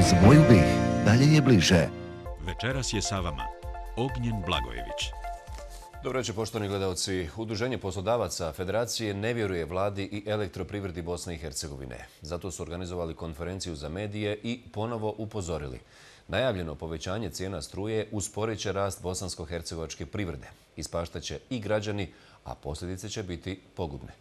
Uz moju BiH dalje je bliže. Večeras je sa vama Ognjen Blagojević. Dobro večer, poštovani gledalci. Udruženje poslodavaca Federacije ne vjeruje vladi i elektroprivredi Bosne i Hercegovine. Zato su organizovali konferenciju za medije i ponovo upozorili. Najavljeno povećanje cijena struje usporit će rast bosansko-hercegovačke privrede. Ispaštaće i građani, a posljedice će biti pogubne.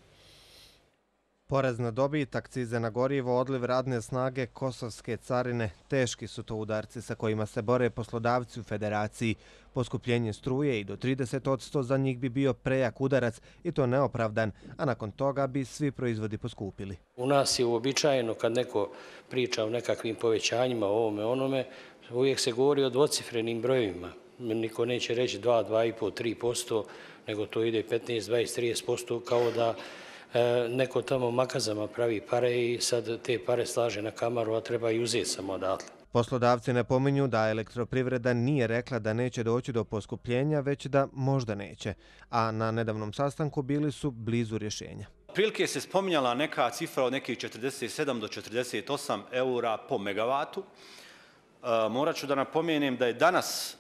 Porez na dobit, akcize na gorivo, odliv radne snage, kosovske carine, teški su to udarci sa kojima se bore poslodavci u Federaciji. Poskupljenje struje i do 30% za njih bi bio prejak udarac i to neopravdan, a nakon toga bi svi proizvodi poskupili. U nas je uobičajeno kad neko priča o nekakvim povećanjima, ovome, onome, uvijek se govori o dvocifrenim brojevima. Niko neće reći 2, 2,5, 3%, nego to ide 15, 20, 30%, kao da neko tamo makazama pravi pare i sad te pare slaže na kamaru, a treba i uzeti samo odatle. Poslodavci napominju da elektroprivreda nije rekla da neće doći do poskupljenja, već da možda neće, a na nedavnom sastanku bili su blizu rješenja. Prilike se spominjala neka cifra od nekih 47 do 48 eura po megavatu. Morat ću da napomenem da je danas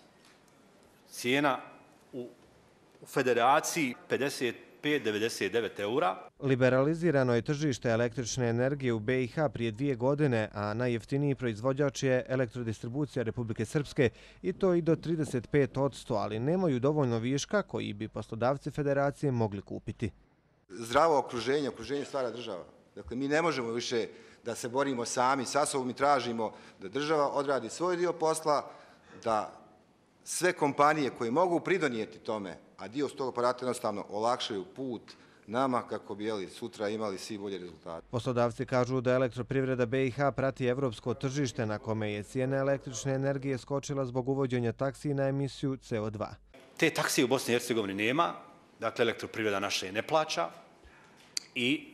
cijena u Federaciji 55,99 eura. Liberalizirano je tržište električne energije u BiH prije 2 godine, a najjeftiniji proizvođač je Elektrodistribucija Republike Srpske i to i do 35%, ali nemaju dovoljno viška koji bi poslodavci Federacije mogli kupiti. Zdravo okruženje stvara država. Dakle, mi ne možemo više da se borimo sami sa sobom i tražimo da država odradi svoj dio posla, da sve kompanije koje mogu pridonijeti tome, a dio s tog aparata jednostavno olakšaju put nama kako bi sutra imali svi bolje rezultate. Poslodavci kažu da elektroprivreda BiH prati evropsko tržište na kome je cijena električne energije skočila zbog uvođenja taksi na emisiju CO2. Te taksije u Bosni i Hercegovini nema, dakle elektroprivreda naša je ne plaća i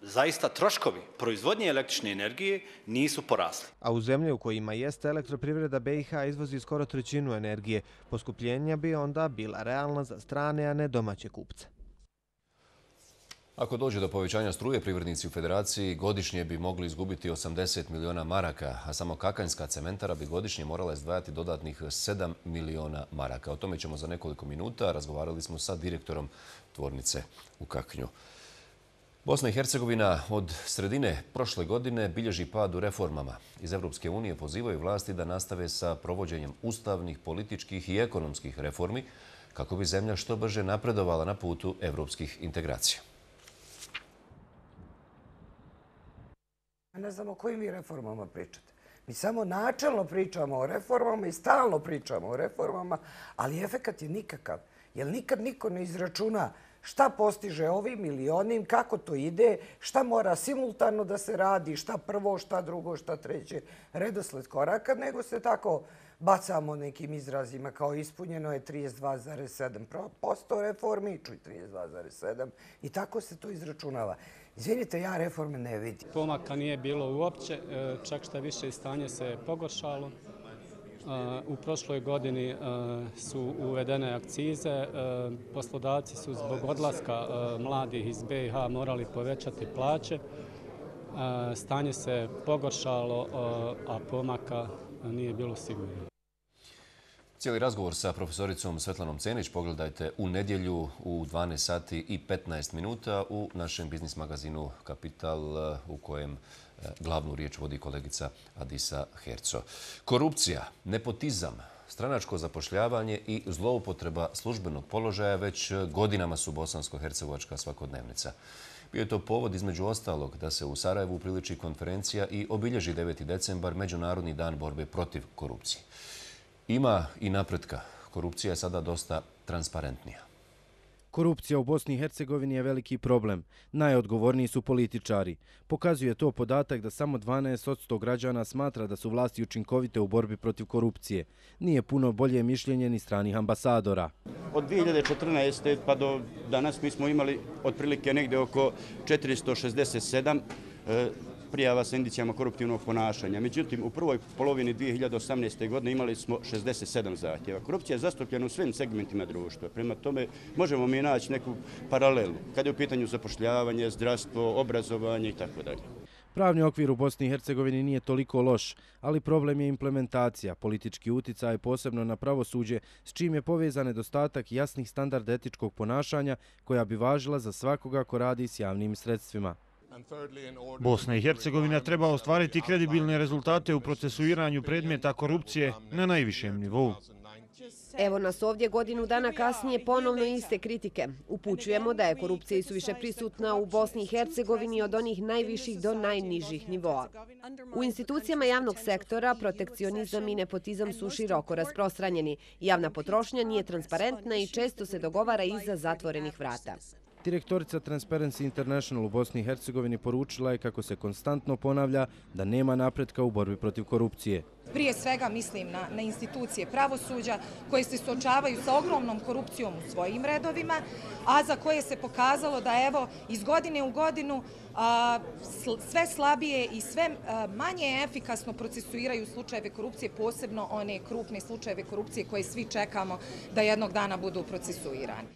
zaista troškovi proizvodnje električne energije nisu porasli. A u zemlje u kojima jeste elektroprivreda BiH izvozi skoro 1/3 energije. Poskupljenja bi onda bila realna za strane, a ne domaće kupce. Ako dođe do povećanja struje, privrednici u Federaciji godišnje bi mogli izgubiti 80 miliona maraka, a samo Kakanjska cementara bi godišnje morala izdvajati dodatnih 7 miliona maraka. O tome ćemo za nekoliko minuta. Razgovarali smo sa direktorom tvornice u Kaknju. Bosna i Hercegovina od sredine prošle godine bilježi pad u reformama. Iz Evropske unije pozivaju vlasti da nastave sa provođenjem ustavnih, političkih i ekonomskih reformi kako bi zemlja što brže napredovala na putu evropskih integracija. Ne znamo o kojim vi reformama pričate. Mi samo načelno pričamo o reformama i stalno pričamo o reformama, ali efekat je nikakav. Jer nikad niko ne izračuna šta postiže ovim ili onim, kako to ide, šta mora simultano da se radi, šta prvo, šta drugo, šta treće, redosled koraka, nego se tako bacamo nekim izrazima kao ispunjeno je 32,7% reformi, čuj 32,7% i tako se to izračunava. Izvinite, ja reforme ne vidim. Pomaka nije bilo uopće, čak šta više stanje se pogoršalo. U prošloj godini su uvedene akcize, poslodavci su zbog odlaska mladih iz BiH morali povećati plaće, stanje se pogoršalo, a pomaka nije bilo sigurno. Cijeli razgovor sa profesoricom Svetlanom Cenić pogledajte u nedjelju u 12 sati i 15 minuta u našem biznis magazinu Kapital u kojem glavnu riječ vodi kolegica Adisa Herco. Korupcija, nepotizam, stranačko zapošljavanje i zloupotreba službenog položaja već godinama su bosansko-hercegovačka svakodnevnica. Bio je to povod između ostalog da se u Sarajevu upriliči konferencija i obilježi 9. decembar Međunarodni dan borbe protiv korupcije. Ima i napretka. Korupcija je sada dosta transparentnija. Korupcija u Bosni i Hercegovini je veliki problem. Najodgovorniji su političari. Pokazuje to podatak da samo 12% građana smatra da su vlasti učinkovite u borbi protiv korupcije. Nije puno bolje mišljenje ni stranih ambasadora. Od 2014. pa do danas mi smo imali otprilike negdje oko 467 prijava sa indicijama koruptivnog ponašanja. Međutim, u prvoj polovini 2018. godine imali smo 67 zahtjeva. Korupcija je zastupljena u svim segmentima društva. Prema tome, možemo mi naći neku paralelu kada je u pitanju zapošljavanje, zdravstvo, obrazovanje itd. Pravni okvir u Bosni i Hercegovini nije toliko loš, ali problem je implementacija, politički uticaj posebno na pravosuđe, s čim je povezan nedostatak jasnih standarda etičkog ponašanja koja bi važila za svakoga ko radi s javnim sredstvima. Bosna i Hercegovina treba ostvariti kredibilne rezultate u procesuiranju predmeta korupcije na najvišem nivou. Evo nas ovdje godinu dana kasnije ponovno iste kritike. Upućujemo da je korupcija isuviše prisutna u Bosni i Hercegovini od onih najviših do najnižih nivoa. U institucijama javnog sektora protekcionizam i nepotizam su široko rasprostranjeni. Javna potrošnja nije transparentna i često se dogovara iza zatvorenih vrata. Direktorica Transparency International u Bosni i Hercegovini poručila je kako se konstantno ponavlja da nema napretka u borbi protiv korupcije. Prije svega mislim na institucije pravosuđa koje se suočavaju sa ogromnom korupcijom u svojim redovima, a za koje se pokazalo da evo iz godine u godinu sve slabije i sve manje efikasno procesuiraju slučajeve korupcije, posebno one krupne slučajeve korupcije koje svi čekamo da jednog dana budu procesuirani.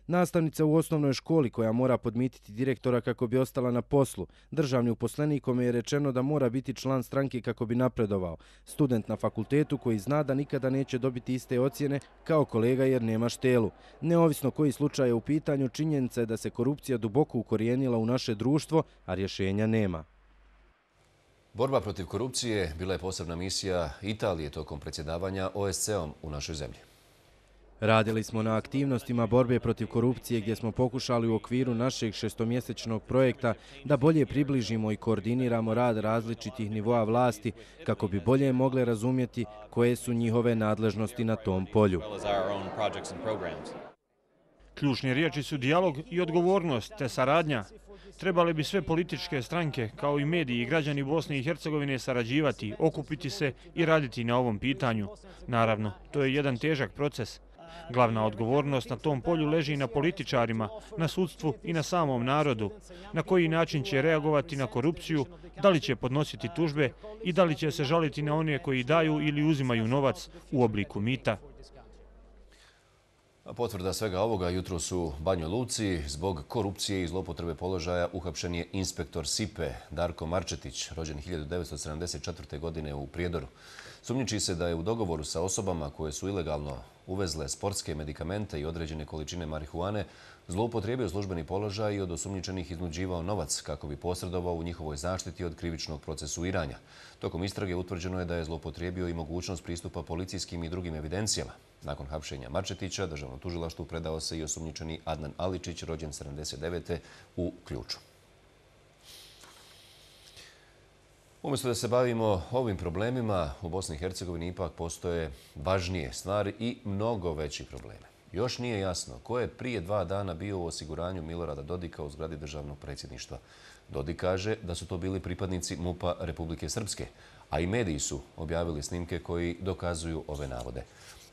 Nastavnica u osnovnoj školi koja mora podmititi direktora kako bi ostala na poslu. Državni uposlenik kome je rečeno da mora biti član stranke kako bi napredovao. Student na fakultetu koji zna da nikada neće dobiti iste ocjene kao kolega jer nema štelu. Neovisno koji slučaj je u pitanju, činjenica je da se korupcija duboko ukorijenila u naše društvo, a rješenja nema. Borba protiv korupcije bila je posebna misija Italije tokom predsjedavanja OSCE-om u našoj zemlji. Radili smo na aktivnostima borbe protiv korupcije gdje smo pokušali u okviru našeg šestomjesečnog projekta da bolje približimo i koordiniramo rad različitih nivoa vlasti kako bi bolje mogle razumjeti koje su njihove nadležnosti na tom polju. Ključne riječi su dijalog i odgovornost te saradnja. Trebali bi sve političke stranke, kao i mediji i građani Bosne i Hercegovine sarađivati, okupiti se i raditi na ovom pitanju. Naravno, to je jedan težak proces. Glavna odgovornost na tom polju leži na političarima, na sudstvu i na samom narodu. Na koji način će reagovati na korupciju, da li će podnositi tužbe i da li će se žaliti na one koji daju ili uzimaju novac u obliku mita. Potvrda svega ovoga jutros u Banjoj Luci. Zbog korupcije i zloupotrebe položaja uhapšen je inspektor SIPE Darko Marčetić, rođen 1974. godine u Prijedoru. Sumnjiči se da je u dogovoru sa osobama koje su ilegalno uvezle sportske medikamente i određene količine marihuane zloupotrijebio službeni položaj i od osumnjičenih iznuđivao novac kako bi posredovao u njihovoj zaštiti od krivičnog procesuiranja. Tokom istrage utvrđeno je da je zloupotrijebio i mogućnost pristupa policijskim i drugim evidencijama. Nakon hapšenja Marčetića, državnom tužilaštvu predao se i osumnjičeni Adnan Aličić, rođen 79. u Ključu. Umjesto da se bavimo ovim problemima, u Bosni i Hercegovini ipak postoje važnije stvari i mnogo veći probleme. Još nije jasno ko je prije 2 dana bio u osiguranju Milorada Dodika u zgradi državnog predsjedništva. Dodik kaže da su to bili pripadnici MUP-a Republike Srpske, a i mediji su objavili snimke koji dokazuju ove navode.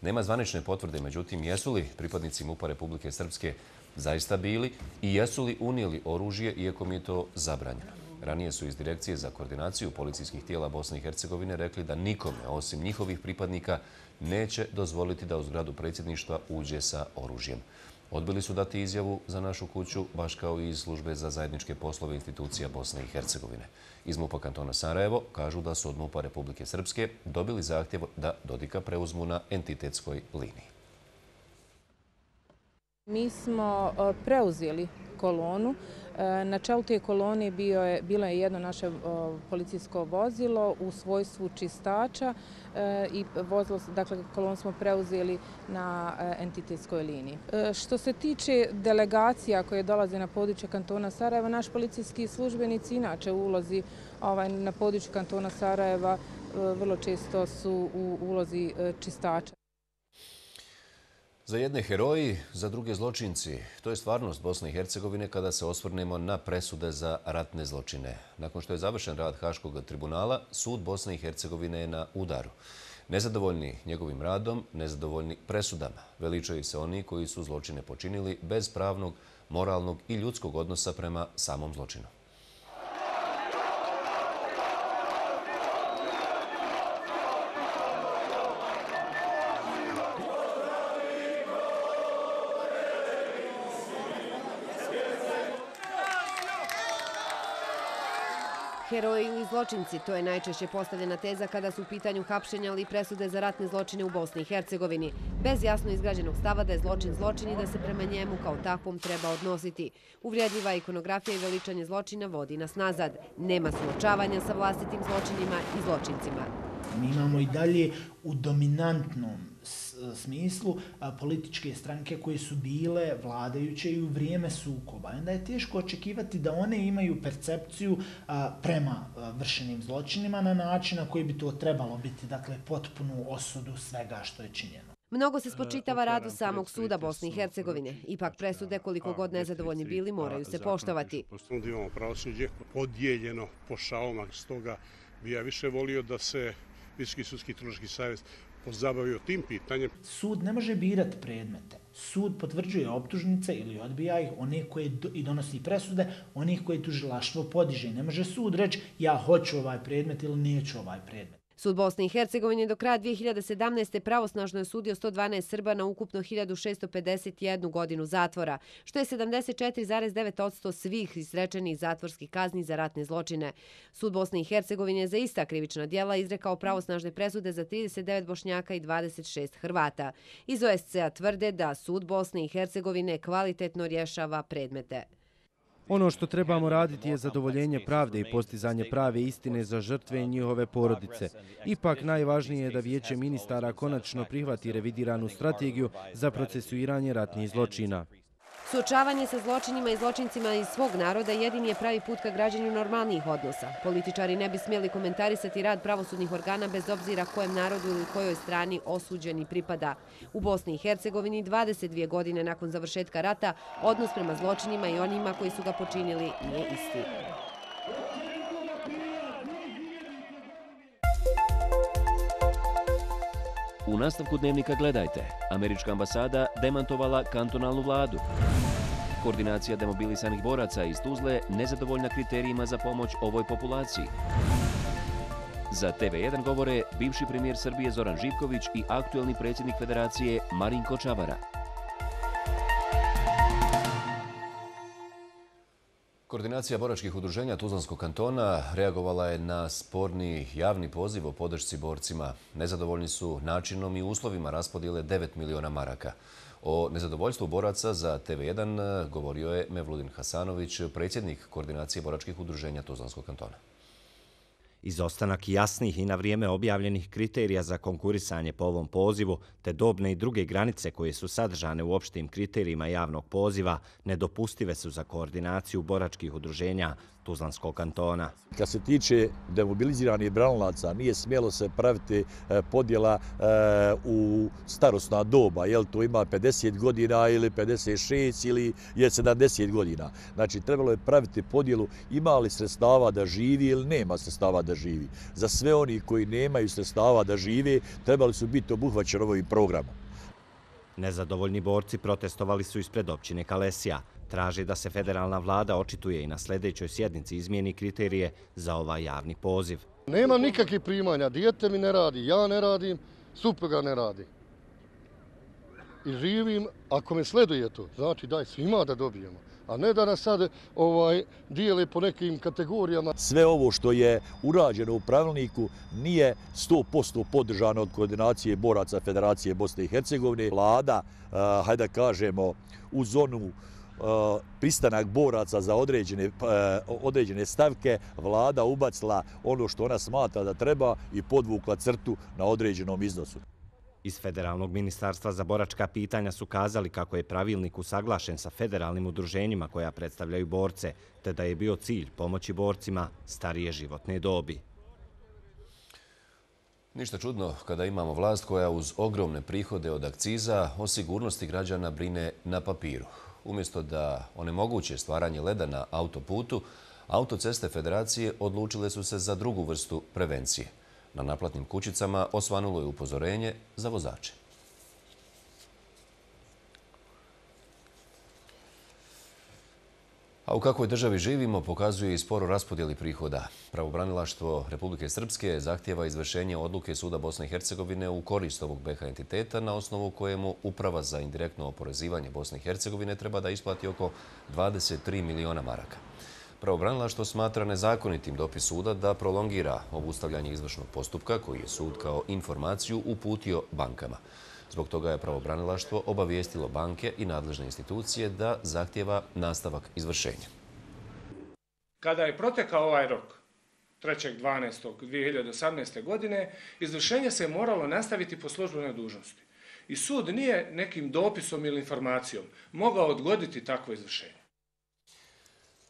Nema zvanične potvrde, međutim, jesu li pripadnici MUP-a Republike Srpske zaista bili i jesu li unijeli oružje, iako mi je to zabranjeno. Ranije su iz Direkcije za koordinaciju policijskih tijela Bosne i Hercegovine rekli da nikome, osim njihovih pripadnika, neće dozvoliti da u zgradu predsjedništva uđe sa oružjem. Odbili su dati izjavu za našu kuću, baš kao i iz službe za zajedničke poslove institucija Bosne i Hercegovine. Iz MUP-a kantona Sarajevo kažu da su od MUP-a Republike Srpske dobili zahtjev da Dodika preuzmu na entitetskoj liniji. Mi smo preuzeli kolonu. Na čelu te kolone bilo je jedno naše policijsko vozilo u svojstvu čistača i kolonu smo preuzeli na entitetskoj liniji. Što se tiče delegacija koje dolaze na područje kantona Sarajeva, naš policijski službenici inače u ulozi na području kantona Sarajeva vrlo često su u ulozi čistača. Za jedne heroji, za druge zločinci. To je stvarnost Bosne i Hercegovine kada se osvrnemo na presude za ratne zločine. Nakon što je završen rad Haškog tribunala, sud Bosne i Hercegovine je na udaru. Nezadovoljni njegovim radom, nezadovoljni presudama. Veličaju se oni koji su zločine počinili bez pravnog, moralnog i ljudskog odnosa prema samom zločinu. heroji ili zločinci, to je najčešće postavljena teza kada su u pitanju hapšenja ili presude za ratne zločine u Bosni i Hercegovini, bez jasno izgrađenog stava da je zločin zločin i da se prema njemu kao takvom treba odnositi. Uvredljiva ikonografija i veličanje zločina vodi nas nazad. Nema suočavanja sa vlastitim zločinima i zločincima. Mi imamo i dalje u dominantnom smislu političke stranke koje su bile vladajuće i u vrijeme sukoba. Onda je teško očekivati da one imaju percepciju prema vršenim zločinima na način na koji bi to trebalo biti, dakle, potpunu osudu svega što je činjeno. Mnogo se spočitava radu samog suda Bosne i Hercegovine. Ipak presude, koliko god nezadovoljni bili, moraju se poštovati. Imamo pravosuđe podijeljeno po šalama, stoga bi ja više volio da se Visoki sudski tužilački savjet pozabavio tim pitanjem. Sud ne može birati predmete. Sud potvrđuje optužnice ili odbija ih, one koje i donosi presude, onih koje tužilaštvo podiže. Ne može sud reći ja hoću ovaj predmet ili neću ovaj predmet. Sud Bosne i Hercegovine do kraja 2017. pravosnažno je sudio 112 Srba na ukupno 1651 godinu zatvora, što je 74,9% svih izrečenih zatvorskih kazni za ratne zločine. Sud Bosne i Hercegovine je za ista krivična djela izrekao pravosnažne presude za 39 Bošnjaka i 26 Hrvata. Iz OSCE-a tvrde da Sud Bosne i Hercegovine kvalitetno rješava predmete. Ono što trebamo raditi je zadovoljenje pravde i postizanje prave istine za žrtve i njihove porodice. Ipak najvažnije je da Vijeće ministara konačno prihvati revidiranu strategiju za procesuiranje ratnih zločina. Suočavanje sa zločinima i zločincima iz svog naroda jedini je pravi put ka građanju normalnijih odnosa. Političari ne bi smjeli komentarisati rad pravosudnih organa bez obzira kojem narodu ili kojoj strani osuđeni pripada. U Bosni i Hercegovini 22 godine nakon završetka rata odnos prema zločinima i onima koji su ga počinili nije isti. U nastavku Dnevnika gledajte. Američka ambasada demantovala kantonalnu vladu. Koordinacija demobilisanih boraca iz Tuzle nezadovoljna kriterijima za pomoć ovoj populaciji. Za TV1 govore bivši premijer Srbije Zoran Živković i aktuelni predsjednik Federacije Marinko Čavara. Koordinacija boračkih udruženja Tuzlanskog kantona reagovala je na sporni javni poziv o podršci borcima. Nezadovoljni su načinom i uslovima raspodjele 9 miliona maraka. O nezadovoljstvu boraca za TV1 govorio je Mevludin Hasanović, predsjednik Koordinacije boračkih udruženja Tuzlanskog kantona. Izostanak jasnih i na vrijeme objavljenih kriterija za konkurisanje po ovom pozivu, te dobne i druge granice koje su sadržane u opštim kriterijima javnog poziva, nedopustive su za koordinaciju boračkih udruženja Tuzlanskog kantona. Kad se tiče demobiliziranih branilaca, nije smjelo se praviti podjela u starosna doba, jel to ima 50 godina ili 56 ili je 70 godina. Znači, trebalo je praviti podjelu ima li sredstava da živi ili nema sredstava da živi. Za sve oni koji nemaju sredstava da žive, trebali su biti obuhvaćeni ovim programom. Nezadovoljni borci protestovali su ispred općine Kalesija. Traži da se federalna vlada očituje i na sljedećoj sjednici izmijeni kriterije za ovaj javni poziv. Nemam nikakvih primanja, dijete mi ne radi, ja ne radim, supruga ne radi. I živim, ako me sleduje to, znači daj svima da dobijemo. A ne da nas sad dijele po nekim kategorijama. Sve ovo što je urađeno u pravilniku nije 100% podržano od koordinacije boraca Federacije Bosne i Hercegovine. Vlada, hajde da kažemo, u zonu pristanak boraca za određene stavke, vlada ubacila ono što ona smatra da treba i podvukla crtu na određenom iznosu. Iz Federalnog ministarstva za boračka pitanja su kazali kako je pravilnik usaglašen sa federalnim udruženjima koja predstavljaju borce, te da je bio cilj pomoći borcima starije životne dobi. Ništa čudno kada imamo vlast koja uz ogromne prihode od akciza o sigurnosti građana brine na papiru. Umjesto da onemoguće stvaranje leda na autoputu, autoceste Federacije odlučile su se za drugu vrstu prevencije. Na naplatnim kućicama osvanulo je upozorenje za vozače. A u kakvoj državi živimo pokazuje i sporo raspodjeli prihoda. Pravobranilaštvo Republike Srpske zahtjeva izvršenje odluke Suda Bosne i Hercegovine u korist ovog BiH entiteta na osnovu kojemu Uprava za indirektno oporezivanje Bosne i Hercegovine treba da isplati oko 23 miliona maraka. Pravobranilaštvo smatra nezakonitim dopis suda da prolongira obustavljanje izvršnog postupka koji je sud kao informaciju uputio bankama. Zbog toga je pravobranilaštvo obavijestilo banke i nadležne institucije da zahtjeva nastavak izvršenja. Kada je protekao ovaj rok 3.12.2018. godine, izvršenje se je moralo nastaviti po službenoj dužnosti. I sud nije nekim dopisom ili informacijom mogao odgoditi takvo izvršenje.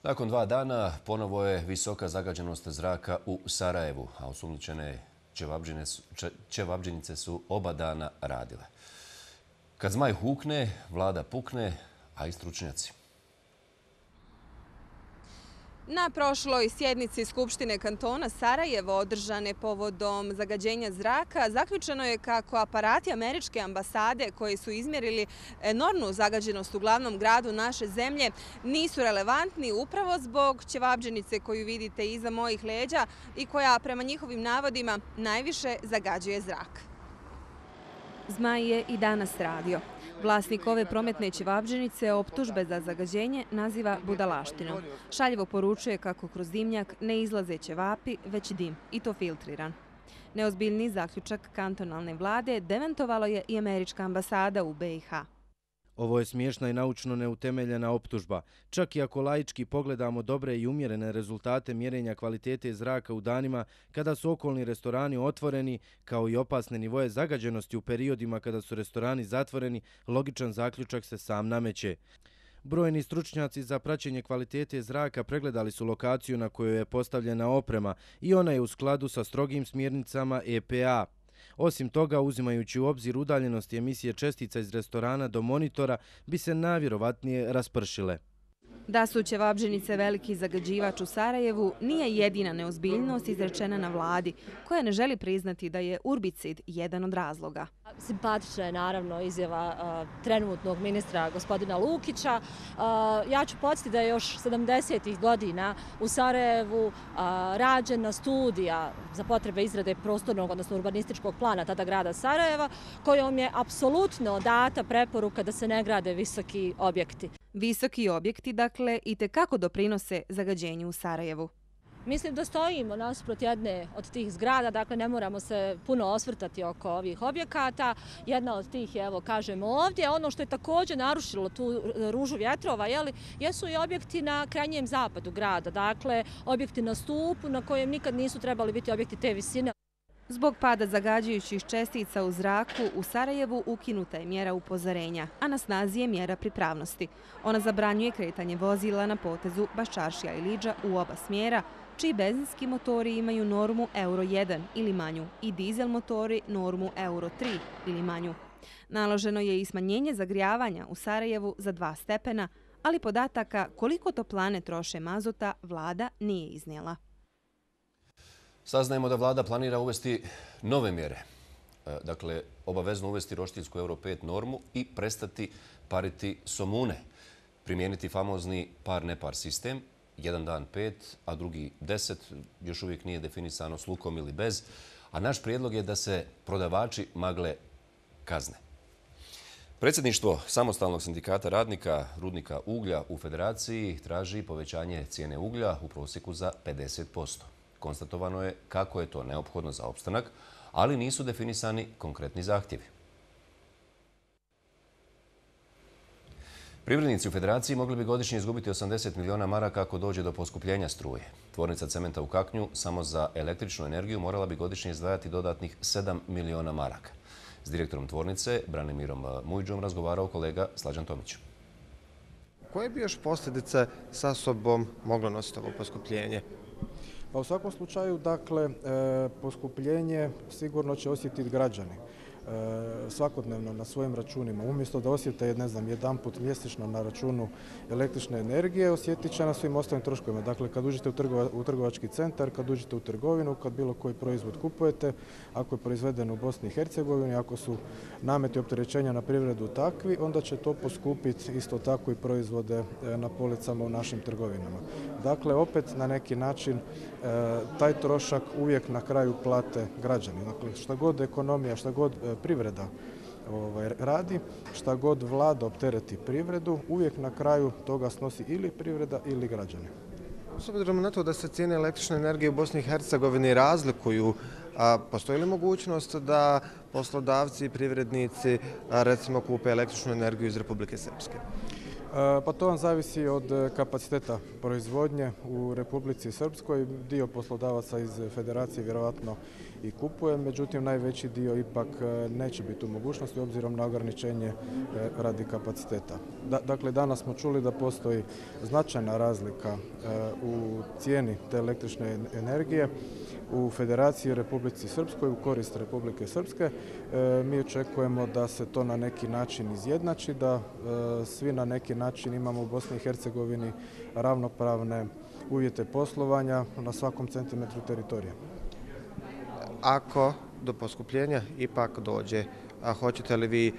Nakon 2 dana ponovo je visoka zagađenost zraka u Sarajevu, a osumnjičene ćevabdžinice su oba dana radile. Kad zmaj hukne, vlada pukne, a i stručnjaci. Na prošloj sjednici Skupštine kantona Sarajevo održane povodom zagađenja zraka zaključeno je kako aparati američke ambasade koji su izmjerili enormnu zagađenost u glavnom gradu naše zemlje nisu relevantni upravo zbog ćevabdžinice koju vidite iza mojih leđa i koja prema njihovim navodima najviše zagađuje zrak. Zmaj je i danas radio. Vlasnik ove prometne ćevabdžinice optužbe za zagađenje naziva budalaštinom. Šaljivo poručuje kako kroz dimnjak ne izlaze ćevapi, već dim, i to filtriran. Neozbiljni zaključak kantonalne vlade demantovalo je i američka ambasada u BiH. Ovo je smiješna i naučno neutemeljena optužba. Čak i ako laički pogledamo dobre i umjerene rezultate mjerenja kvalitete zraka u danima kada su okolni restorani otvoreni, kao i opasne nivoje zagađenosti u periodima kada su restorani zatvoreni, logičan zaključak se sam nameće. Brojni stručnjaci za praćenje kvalitete zraka pregledali su lokaciju na kojoj je postavljena oprema i ona je u skladu sa strogim smjernicama EPA. Osim toga, uzimajući u obzir udaljenosti emisije čestica iz restorana do monitora, bi se najvjerovatnije raspršile. Da su ćevabdžinice veliki zagađivač u Sarajevu nije jedina neozbiljnost izrečena na vladi, koja ne želi priznati da je urbicid jedan od razloga. Simpatična je naravno izjava trenutnog ministra gospodina Lukića. Ja ću podsjetiti da je još 70. godina u Sarajevu rađena studija za potrebe izrade prostornog, odnosno urbanističkog plana tada grada Sarajeva, kojom je apsolutno data preporuka da se ne grade visoki objekti. Visoki objekti, dakle, i tekako doprinose zagađenju u Sarajevu. Mislim da stojimo nasuprot jedne od tih zgrada, dakle ne moramo se puno osvrtati oko ovih objekata. Jedna od tih je, evo kažemo ovdje, ono što je također narušilo tu ružu vjetrova, jesu i objekti na krajnjem zapadu grada, dakle objekti na stupu na kojem nikad nisu trebali biti objekti te visine. Zbog pada zagađujućih čestica u zraku, u Sarajevu ukinuta je mjera upozorenja, a na snazi je mjera pripravnosti. Ona zabranjuje kretanje vozila na potezu Baščaršija i Lidža u oba smjera, čiji benzinski motori imaju normu Euro 1 ili manju i dizel motori normu Euro 3 ili manju. Naloženo je i smanjenje zagrijavanja u Sarajevu za 2 stepena, ali podataka koliko toplane troše mazota vlada nije iznijela. Saznajemo da vlada planira uvesti nove mjere. Dakle, obavezno uvesti roštiljsku Euro 5 normu i prestati pariti somune. Primijeniti famozni par-nepar sistem, jedan dan 5, a drugi 10, još uvijek nije definisano s lukom ili bez, a naš prijedlog je da se prodavači magle kazne. Predsjedništvo Samostalnog sindikata radnika rudnika uglja u Federaciji traži povećanje cijene uglja u prosjeku za 50%. Konstatovano je kako je to neophodno za opstanak, ali nisu definisani konkretni zahtjevi. Privrednici u Federaciji mogli bi godišnje izgubiti 80 miliona maraka ako dođe do poskupljenja struje. Tvornica cementa u Kaknju samo za električnu energiju morala bi godišnje izdvajati dodatnih 7 miliona maraka. S direktorom tvornice, Branimirom Mujđom, razgovarao kolega Slađan Tomić. Koje bi još posljedice sa sobom moglo nositi ovo poskupljenje? Pa u svakom slučaju, dakle, poskupljenje sigurno će osjetiti građani svakodnevno na svojim računima. Umjesto da osjete, ne znam, jedan put mjesečno na računu električne energije, osjetit će na svim ostalim troškovima. Dakle, kad uđete u trgovački centar, kad uđete u trgovinu, kad bilo koji proizvod kupujete, ako je proizveden u Bosni i Hercegovini, ako su nameti opterećenja na privredu takvi, onda će to poskupiti isto tako i proizvode na policama u našim trgovinama. Dakle, opet na neki način taj trošak uvijek na kraju plate građani. Dakle, šta god ekonomija, šta god privreda radi, šta god vlada optereti privredu, uvijek na kraju toga snosi ili privreda ili građani. S obzirom na to da se cijene električne energije u Bosni i Hercegovini razlikuju, postoji li mogućnost da poslodavci i privrednici recimo kupe električnu energiju iz Republike Srpske? Pa to vam zavisi od kapaciteta proizvodnje u Republici Srpskoj. Dio poslodavaca iz federacije vjerovatno i kupuje, međutim najveći dio ipak neće biti u mogućnosti obzirom na ograničenje radi kapaciteta. Dakle, danas smo čuli da postoji značajna razlika u cijeni te električne energije u Federaciji Republici Srpskoj u korist Republike Srpske. Mi očekujemo da se to na neki način izjednači, da svi na neki način imamo u Bosni i Hercegovini ravnopravne uvjete poslovanja na svakom centimetru teritorija. Ako do poskupljenja ipak dođe, hoćete li vi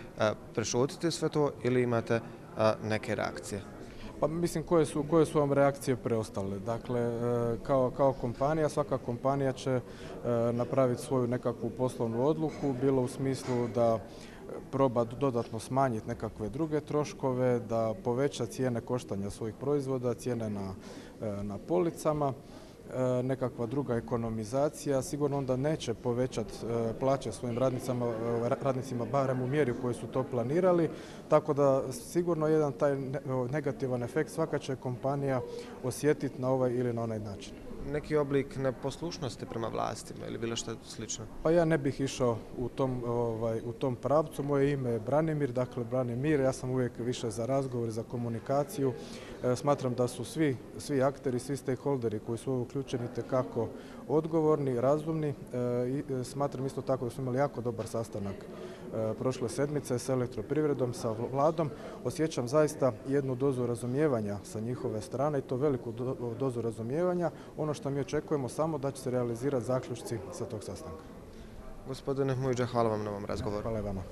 prešutiti sve to ili imate neke reakcije? Pa mislim koje su vam reakcije preostale. Dakle, kao kompanija, svaka kompanija će napraviti svoju nekakvu poslovnu odluku, bilo u smislu da proba dodatno smanjiti nekakve druge troškove, da poveća cijene koštanja svojih proizvoda, cijene na policama, nekakva druga ekonomizacija. Sigurno onda neće povećati plaće svojim radnicima barem u mjeri u kojoj su to planirali, tako da sigurno jedan taj negativan efekt svaka će kompanija osjetiti na ovaj ili na onaj način. Neki oblik neposlušnosti prema vlastima ili bilo što slično? Pa ja ne bih išao u tom pravcu. Moje ime je Branimir, dakle Branimir, ja sam uvijek više za razgovor, za komunikaciju. Smatram da su svi akteri, svi stakeholderi koji su uključeni tekako odgovorni, razumni. Smatram isto tako da smo imali jako dobar sastanak prošle sedmice s elektroprivredom, sa vladom. Osjećam zaista jednu dozu razumijevanja sa njihove strane i to veliku dozu razumijevanja. Ono što mi očekujemo samo da će se realizirati zaključci sa tog sastanka. Gospodine Mujdža, hvala vam na ovom razgovoru. Hvala i vama.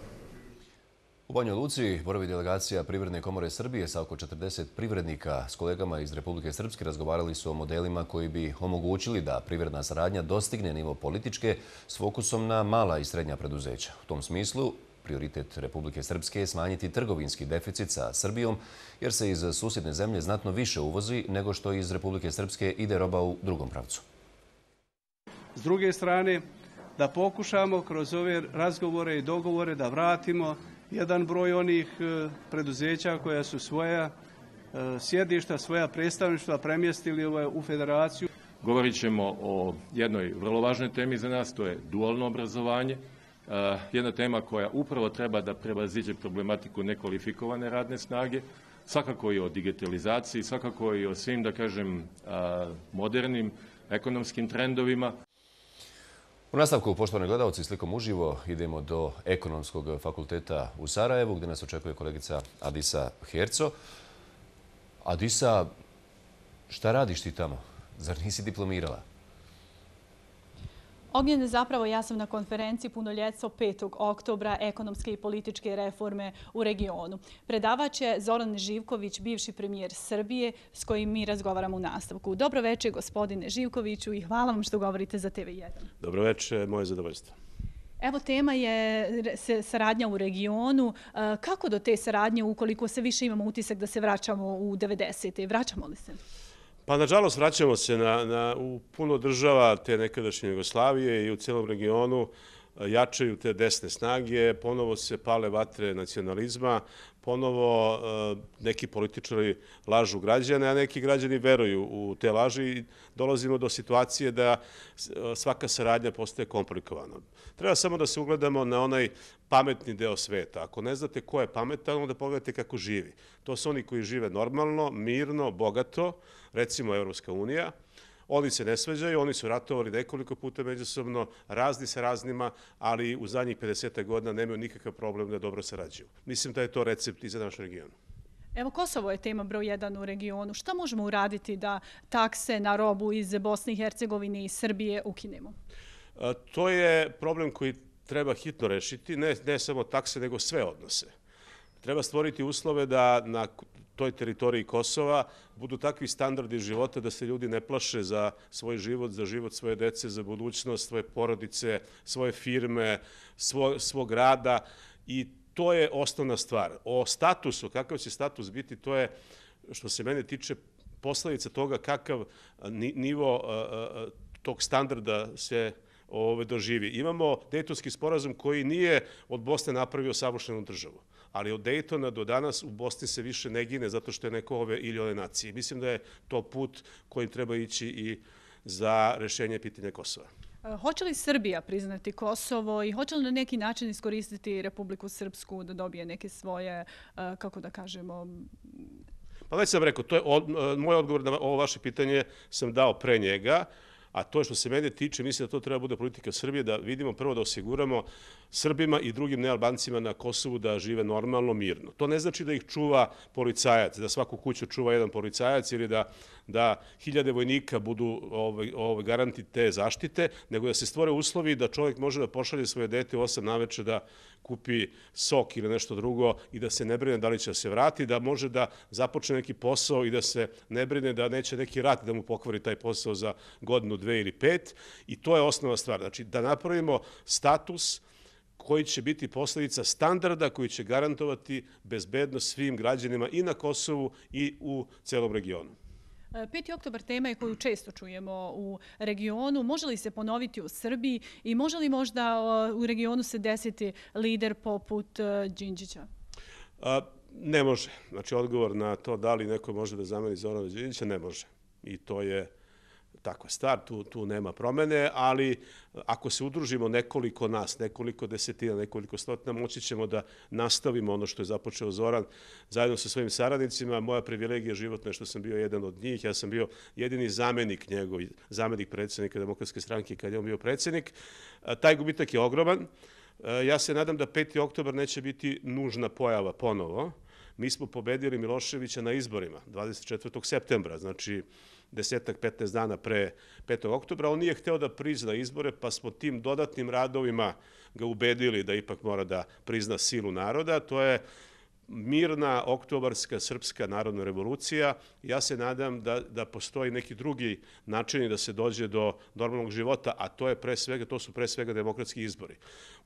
U Banjoj Luci boravi delegacija Privredne komore Srbije sa oko 40 privrednika. S kolegama iz Republike Srpske razgovarali su o modelima koji bi omogućili da privredna saradnja dostigne nivo političke s fokusom na mala i srednja preduzeća. U tom smislu, prioritet Republike Srpske je smanjiti trgovinski deficit sa Srbijom, jer se iz susjedne zemlje znatno više uvozi nego što iz Republike Srpske ide roba u drugom pravcu. S druge strane, da pokušamo kroz ove razgovore i dogovore da vratimo jedan broj onih preduzeća koja su svoja sjedišta, svoja predstavništva premjestili u federaciju. Govorit ćemo o jednoj vrlo važnoj temi za nas, to je dualno obrazovanje. Jedna tema koja upravo treba da prevaziđe problematiku nekvalifikovane radne snage, svakako i o digitalizaciji, svakako i o svim, da kažem, modernim ekonomskim trendovima. U nastavku, poštovani gledalci, slikom uživo idemo do Ekonomskog fakulteta u Sarajevu, gdje nas očekuje kolegica Adisa Herco. Adisa, šta radiš ti tamo? Zar nisi diplomirala? Ognjene, zapravo ja sam na konferenciji Punoljetstvo 5. oktobra ekonomske i političke reforme u regionu. Predavač je Zoran Živković, bivši premijer Srbije, s kojim mi razgovaramo u nastavku. Dobro večer, gospodine Živkoviću, i hvala vam što govorite za TV1. Dobro večer, moje zadovoljstvo. Evo, tema je saradnja u regionu. Kako do te saradnje, ukoliko se više imamo utisak da se vraćamo u 90. Vraćamo li se? Pa, nažalost, vraćamo se u puno država te nekadašnje Jugoslavije i u cijelom regionu jačaju te desne snage, ponovo se pale vatre nacionalizma, ponovo neki političari lažu građane, a neki građani veruju u te laži i dolazimo do situacije da svaka saradnja postaje komplikovana. Treba samo da se ugledamo na onaj pametni deo sveta. Ako ne znate ko je pametan, onda pogledajte kako živi. To su oni koji žive normalno, mirno, bogato, recimo Evropska unija. Oni se ne svađaju, oni su ratovali nekoliko puta međusobno, razni sa raznima, ali u zadnjih 50 godina nemaju nikakav problem da dobro sarađuju. Mislim da je to recept i za naš region. Evo, Kosovo je tema broj 1 u regionu. Šta možemo uraditi da takse na robu iz Bosne i Hercegovine i Srbije ukinemo? To je problem koji treba hitno rešiti, ne samo takse, nego sve odnose. Treba stvoriti uslove da na toj teritoriji Kosova budu takvi standardi života da se ljudi ne plaše za svoj život, za život svoje dece, za budućnost, svoje porodice, svoje firme, svog rada i to je osnovna stvar. O statusu, kakav će status biti, to je, što se mene tiče, posljedica toga kakav nivo tog standarda se doživi. Imamo Dejtonski sporazum koji nije od Bosne napravio savršenu državu, ali od Dejtona do danas u Bosni se više ne gine zato što je neko ove ili one nacije. Mislim da je to put kojim treba ići i za rešenje pitanja Kosova. Hoće li Srbija priznati Kosovo i hoće li na neki način iskoristiti Republiku Srpsku da dobije neke svoje, kako da kažemo... Pa već sam rekao, to je moj odgovor na ovo vaše pitanje sam dao pre njega, a to što se mene tiče, mislim da to treba bude politika Srbije, da vidimo prvo da osiguramo Srbima i drugim nealbancima na Kosovu da žive normalno, mirno. To ne znači da ih čuva policajac, da svaku kuću čuva jedan policajac ili da hiljade vojnika budu garanti te zaštite, nego da se stvore uslovi da čovjek može da pošalje svoje dete u 8 naveče da kupi sok ili nešto drugo i da se ne brine da li će se vrati, da može da započne neki posao i da se ne brine da neće neki rat da mu pokvari taj posao za godinu, 2 ili 5. I to je osnova stvar. Znači, da napravimo status koji će biti posljedica standarda koji će garantovati bezbednost svim građanima i na Kosovu i u celom regionu. 5. oktobar tema je koju često čujemo u regionu. Može li se ponoviti u Srbiji i može li možda u regionu se desiti lider poput Đinđića? Ne može. Znači, odgovor na to da li neko može da zameni Zorana Đinđića, ne može. I to je takva stvar, tu nema promene, ali ako se udružimo nekoliko nas, nekoliko desetina, nekoliko stotina, moći ćemo da nastavimo ono što je započeo Zoran zajedno sa svojim saradnicima. Moja privilegija životna je što sam bio jedan od njih. Ja sam bio jedini zamenik njegov, zamenik predsjednika Demokratske stranke kad je on bio predsjednik. Taj gubitak je ogroman. Ja se nadam da 5. oktobar neće biti nužna pojava ponovo. Mi smo pobedili Miloševića na izborima 24. septembra, znači 10-15 dana pre 5. oktobra. On nije hteo da prizna izbore, pa smo tim dodatnim radovima ga ubedili da ipak mora da prizna silu naroda. To je mirna oktobarska srpska narodna revolucija. Ja se nadam da postoji neki drugi načini da se dođe do normalnog života, a to su pre svega demokratski izbori.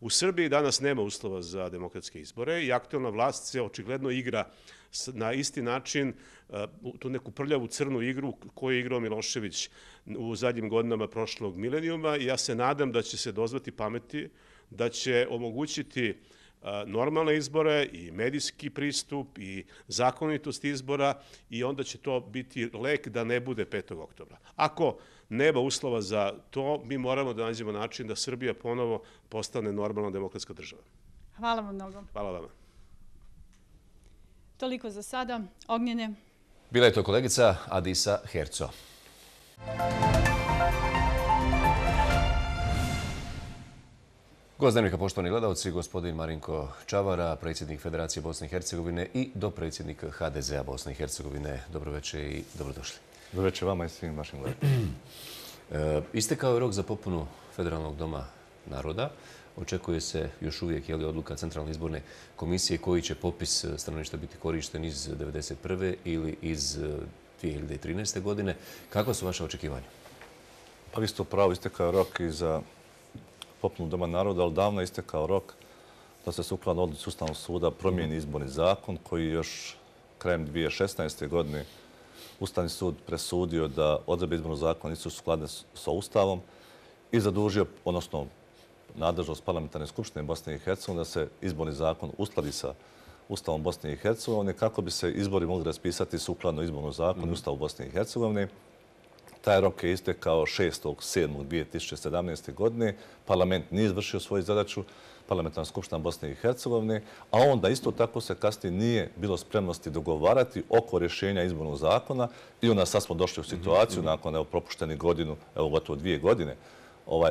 U Srbiji danas nema uslova za demokratske izbore i aktuelna vlast se očigledno igra na isti način tu neku prljavu crnu igru koju je igrao Milošević u zadnjim godinama prošlog milenijuma i ja se nadam da će se dozvati pameti, da će omogućiti normalne izbore i medijski pristup i zakonitost izbora i onda će to biti lek da ne bude 5. oktobra. Ako nema uslova za to, mi moramo da nađemo način da Srbija ponovo postane normalna demokratska država. Hvala vam mnogo. Hvala vama. Toliko za sada. Ognjene. Bila je to kolegica Adisa Herco. Gost dnevnika, poštovani gledalci, gospodin Marinko Čavara, predsjednik Federacije Bosne i Hercegovine i dopredsjednik HDZ-a Bosne i Hercegovine. Dobro večer i dobrodošli. Dobro večer vama i svim vašim gledalcima. Istekao je rok za popunu Federalnog doma naroda. Očekuje se još uvijek odluka Centralne izborne komisije koji će popis stanovništva biti korišten iz 1991. ili iz 2013. godine. Kakva su vaše očekivanja? Pa vi ste upravo, istekao je rok i za popunu Doma naroda, ali davno je istekao rok da se sukladno odluci Ustavnog suda promijeni izborni zakon koji još krajem 2016. godine Ustavni sud presudio da odredbe izbornog zakona nisu skladne sa Ustavom i zadužio, odnosno nadležnost Parlamentarne skupštine Bosne i Hercegovine da se izborni zakon uskladi sa Ustavom Bosne i Hercegovine kako bi se izbori mogli raspisati sukladno izbornom zakonu i Ustavu Bosne i Hercegovine. Taj rok je istekao 6.7.2017. godine. Parlament nije izvršio svoju zadaću, Parlamentarna skupština Bosne i Hercegovine, a onda isto tako se kasnije nije bilo spremnosti dogovarati oko rješenja izbornog zakona i onda sad smo došli u situaciju nakon propuštenih godinu, gotovo 2 godine,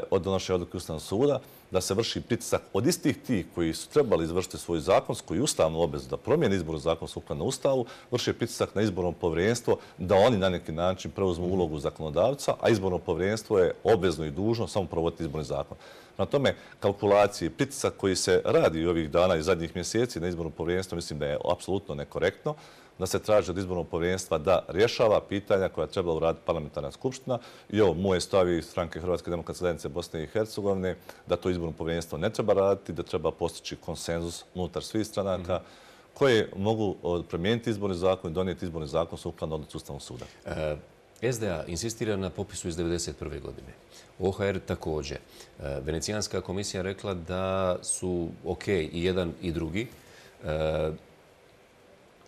od donošenja odluke Ustavnog suda, da se vrši pritisak od istih tih koji su trebali izvršiti svoju zakonsku i ustavnu obavezu da promijene izborni zakon sukladno Ustavu, vrši pritisak na izborno povjerenstvo da oni na neki način preuzmu ulogu zakonodavca, a izborno povjerenstvo je obvezno i dužno samo provoditi izborni zakon. Na tome kalkulacije, pritisak koji se radi ovih dana i zadnjih mjeseci na izborno povjerenstvo mislim da je apsolutno nekorektno, da se traži od izbornog povjerenstva da rješava pitanja koja treba uraditi Parlamentarna skupština. I ovo moje stavi stranke Hrvatske demokratske zajednice Bosne i Hercegovine, da to izborno povjerenstvo ne treba raditi, da treba postići konsenzus unutar svih stranaka koje mogu promijeniti izborni zakon i donijeti izborni zakon sukladno odluci Ustavnog suda. SDA insistira na popisu iz 1991. godine. OHR također. Venecijanska komisija rekla da su ok i jedan i drugi.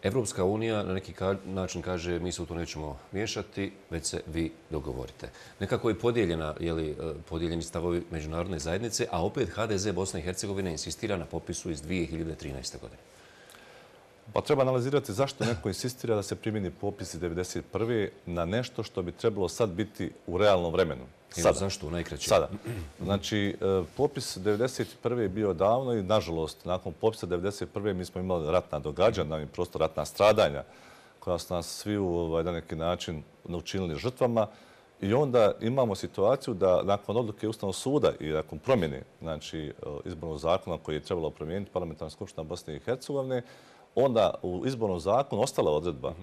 Evropska unija na neki način kaže mi se u to nećemo miješati, već se vi dogovorite. Nekako je podijeljeni stavovi međunarodne zajednice, a opet HDZ Bosne i Hercegovine insistira na popisu iz 2013. godine. Pa treba analizirati zašto neko insistira da se primjeni popis iz 1991. na nešto što bi trebalo sad biti u realnom vremenu. Zašto u najkraće? Sada. Znači, popis 1991. je bio davno i, nažalost, nakon popisa 1991. mi smo imali ratna događanja, prosto ratna stradanja, koja su nas svi na neki način učinili žrtvama. I onda imamo situaciju da nakon odluke Ustavnog suda i nakon promjene izbornog zakona koji je trebalo promijeniti Parlamentarna skupština Bosne i Hercegovine, onda u izbornom zakonu ostala odredba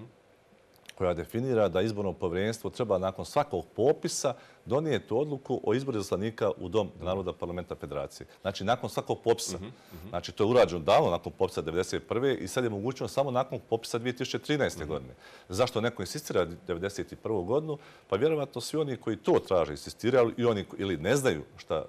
koja definira da izborno povjerenstvo treba nakon svakog popisa donijeti odluku o izboru izaslanika u Dom naroda Parlamenta Federacije. Znači, nakon svakog popisa. Znači, to je urađeno davno nakon popisa 1991. i sad je mogućno samo nakon popisa 2013. godine. Zašto neko insistira 1991. godinu? Pa vjerovatno svi oni koji to traže insistiraju i oni ili ne znaju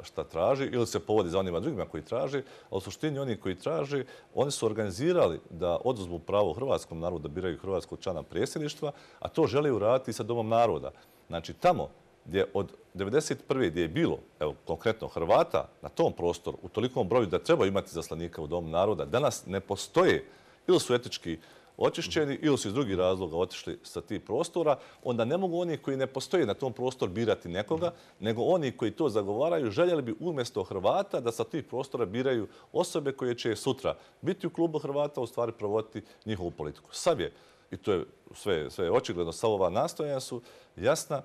šta traži ili se povodi za onima drugima koji traže, a u suštini oni koji traže, oni su organizirali da oduzmu pravo hrvatskom narodu da biraju hrvatskog člana predsjedništva, a to žele uraditi i sa Domom naroda. Znači, tamo gdje od 1991. gdje je bilo, evo, konkretno Hrvata na tom prostoru u tolikom broju da treba imati zaslanika u Domu naroda, danas ne postoje ili su etički očišćeni ili su iz drugih razloga otišli sa tih prostora, onda ne mogu oni koji ne postoje na tom prostoru birati nekoga, nego oni koji to zagovaraju željeli bi umjesto Hrvata da sa tih prostora biraju osobe koje će sutra biti u klubu Hrvata, u stvari provoditi njihovu politiku. Sad je, i to je sve očigledno, sva ova nastojanja su jasna,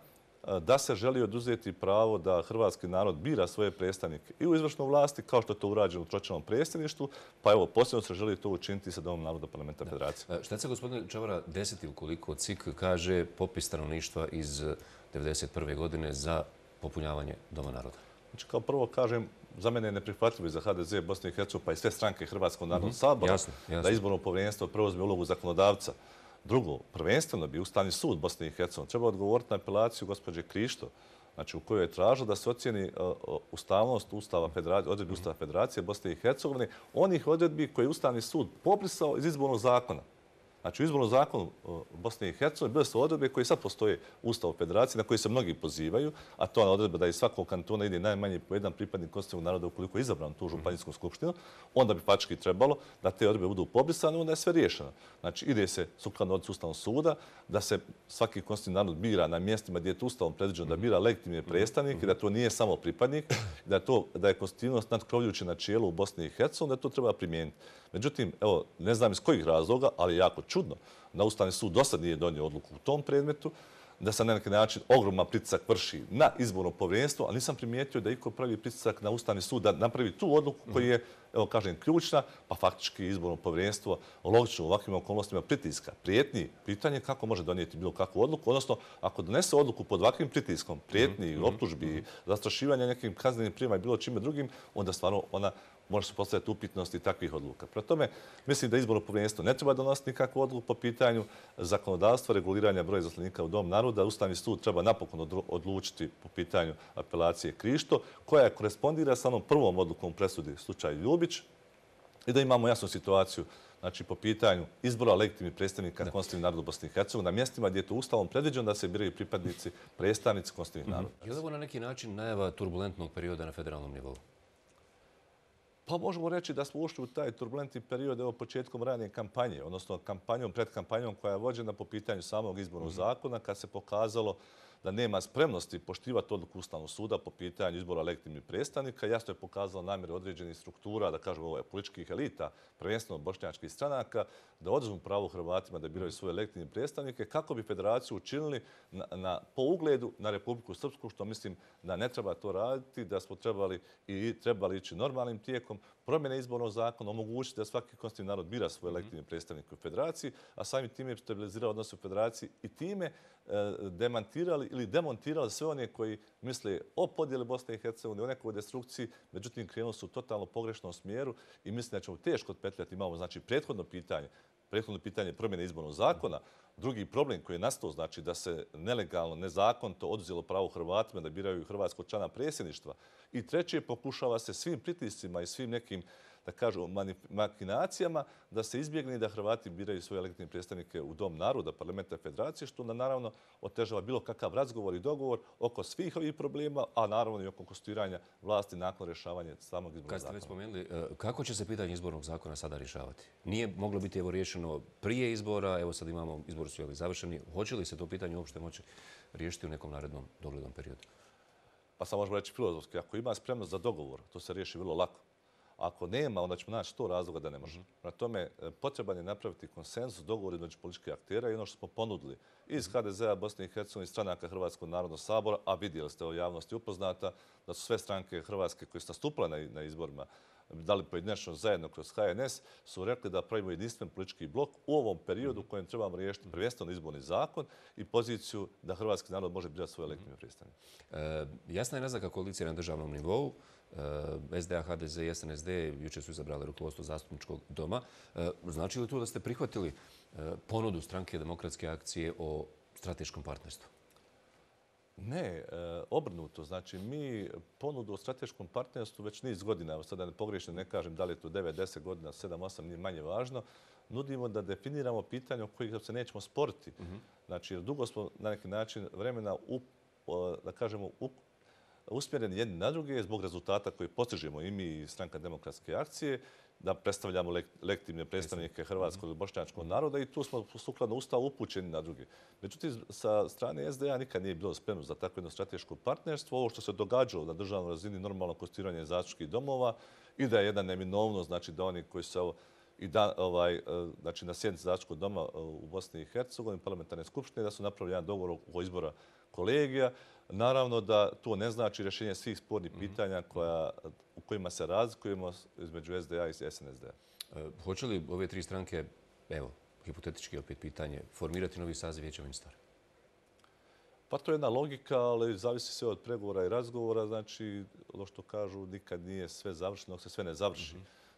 da se želi oduzeti pravo da hrvatski narod bira svoje predstavnike i u izvršnoj vlasti, kao što je to urađeno u tročlanom predsjedništvu, pa evo, posljedno se želi to učiniti sa Domom naroda Parlamenta Federacije. Šta se, gospodine Čavara, desiti ukoliko CIK kaže popis stanovništva iz 1991. godine za popunjavanje Doma naroda? Znači, kao prvo kažem, za mene je neprihvatljivo i za HDZ Bosne i Hercegovine, pa i sve stranke Hrvatskog narodnog sabora, da izborno povjerenstvo preuzme ulogu zakonodavca. Drugo, prvenstveno bi Ustavni sud Bosne i Hercegovine trebao odgovoriti na apelaciju gospođe Krišto, znači u kojoj je tražilo da se ocjeni ustavnost odredbi Ustava Federacije Bosne i Hercegovine, onih odredbi koje je Ustavni sud poprisao iz izbornog zakona. Znači, u izbornom zakonu Bosne i Hercegovine bile su odredbe koje sad postoje u Ustavu Federacije, na koje se mnogi pozivaju, a to je odredba da iz svakog kantona ide najmanje po jedan pripadnik konstitutivnog naroda ukoliko je izabran tu županijsku skupštinu, onda bi faktički trebalo da te odredbe budu pobrisane, onda je sve riješeno. Znači, ide se sukladno odluci Ustavnog suda da se svaki konstitutivni narod bira na mjestima gdje je Ustavom predviđeno da bira legitimne predstavnike, da to nije samo pripadnik, da je konstitutivnost nadkrovljujuće načelo u Bosni i Hercegovini, da to treba primijeniti. Međutim, evo, ne znam iz kojih razloga, ali jako čudno da Ustavni sud dosad nije donio odluku u tom predmetu, da se na neki način ogroman pritisak vrši na izborno povjerenstvo, ali nisam primijetio da iko pravi pritisak na Ustavni sud da napravi tu odluku koja je, evo kažem, ključna, pa faktički izborno povjerenstvo logično u ovakvim okolnostima pritiska, prijetnji, pitanje kako može donijeti bilo kakvu odluku, odnosno ako donese odluku pod ovakvim pritiskom, prijetnji, optužbi, zastrašivanja nekim kaznenim prijemima i bilo čime drugim, onda stvarno ona može se postaviti upitnosti takvih odluka. Prema tome, mislim da izborno povjerenstvo ne treba donositi nikakvu odluku po pitanju zakonodavstva, reguliranja broja izaslanika u Dom naroda. Ustavni sud treba napokon odlučiti po pitanju apelacije Krišto, koja korespondira sa onom prvom odlukom presudi slučaju Ljubić i da imamo jasnu situaciju znači po pitanju izbora legitimnih predstavnika konstitutivnih naroda Bosne i Hercegovine na mjestima gdje je to Ustavom predviđeno da se biraju pripadnici, predstavnici konstitutivnih naroda. Je li ovo na neki način najava turbulentnog perioda na federalnom nivou? Pa možemo reći da smo ušli u taj turbulentni period evo početkom ranije kampanje, odnosno pred kampanjom koja je vođena po pitanju samog izbornog zakona, kad se pokazalo da nema spremnosti poštivati odluku Ustavnog suda po pitanju izbora legitimnih predstavnika. Jasno je pokazalo namjere određenih struktura, da kažemo političkih elita, prvenstveno bošnjačkih stranaka, da oduzmu pravo Hrvatima da biraju svoje legitimne predstavnike, kako bi federaciju učinili po ugledu na Republiku Srpsku, što mislim da ne treba to raditi, da smo trebali ići normalnim tijekom promjene izbornog zakona, omogućiti da svaki konstitutivni narod bira svoje legitimne predstavnike u federaciji, a samim time je stabilizirao odnose u federaciji i time demantirali demontirali ili demontirali sve one koji misle o podjeli Bosne i Hercegovine, o nekoj destrukciji, međutim krenuli su u totalno pogrešnom smjeru i mislim da ćemo teško otpetljati. Imamo znači prethodno pitanje promjene izbornog zakona, drugi problem koji je nastao, znači da se nelegalno, nezakonito oduzelo pravo Hrvatima da biraju hrvatskog člana predsjedništva. I treće, pokušava se svim pritiscima i svim nekim, da kažu, makinacijama da se izbjegne da Hrvati biraju svoje legitimne predstavnike u Dom naroda, parlamenta federacije, što naravno otežava bilo kakav razgovor i dogovor oko svih ovih problema, a naravno i oko konstituiranja vlasti nakon rješavanja samog izbornog zakona. Kad ste već spomenuli, kako će se pitanje izbornog zakona sada rješavati? Nije moglo biti riješeno prije izbora, evo sad imamo, izbori su završeni. Hoće li se to pitanje uopšte moći riješiti u nekom narednom doglednom periodu? Pa sam možemo reći filozofski, ako ima spremnost za dogovor, to se riješi vrlo lako. Ako nema, onda ćemo naći 100 razloga da ne može. Na tome potreban je napraviti konsenzus, dogovor između političkih aktera i ono što smo ponudili iz HDZ-a, Bosne i Hercegovine, stranaka Hrvatskog narodnog sabora, a vidjeli ste u javnosti upoznata da su sve stranke Hrvatske koje su nastupile na izborima, da li pojedinačno zajedno kroz HNS, su rekli da pravimo jedinstven politički blok u ovom periodu u kojem trebamo riješiti prvenstveno izborni zakon i poziciju da hrvatski narod može birati svoje legitimne predstavnike. Jasna je naznaka koalicije na državnom nivou. SDA, HDZ i SNSD jučer su izabrali rukovodstvo zastupničkog doma. Znači li to da ste prihvatili ponudu stranke Demokratske akcije o strateškom partnerstvu? Ne, obrnuto. Znači, mi ponudu o strateškom partnerstvu već niz godina, evo sada ne pogriješim, ne kažem da li je to 9, 10 godina, 7, 8, nije manje važno, nudimo da definiramo pitanje o kojih se nećemo sporiti. Znači, jer dugo smo na neki način vremena, da kažemo, usmjereni jedni na druge zbog rezultata koje postižemo i mi i stranka Demokratske akcije, da predstavljamo legitimne predstavnike hrvatskog i bošnjačkog naroda i tu smo sukladno Ustavu upućeni na druge. Međutim, sa strane SDA nikad nije bilo spremno za takvo jedno strateško partnerstvo. Ovo što se događalo na državnoj razini, normalno konstituiranje zastupničkih domova i da je jedna neminovnost, znači da oni koji su znači na sjednici zastupničkog doma u Bosni i Hercegovini, parlamentarne skupštine, da su napravili jedan dogovor o izbora kolegija. Naravno da to ne znači rješenje svih spornih pitanja u kojima se razlikujemo između SDA i SNSD. Hoće li ove tri stranke, evo, hipotetički opet pitanje, formirati novi saziv Vijeća ministara? Pa to je jedna logika, ali zavisi sve od pregovora i razgovora. Znači, ono što kažu, nikad nije sve završeno dok se sve ne završi.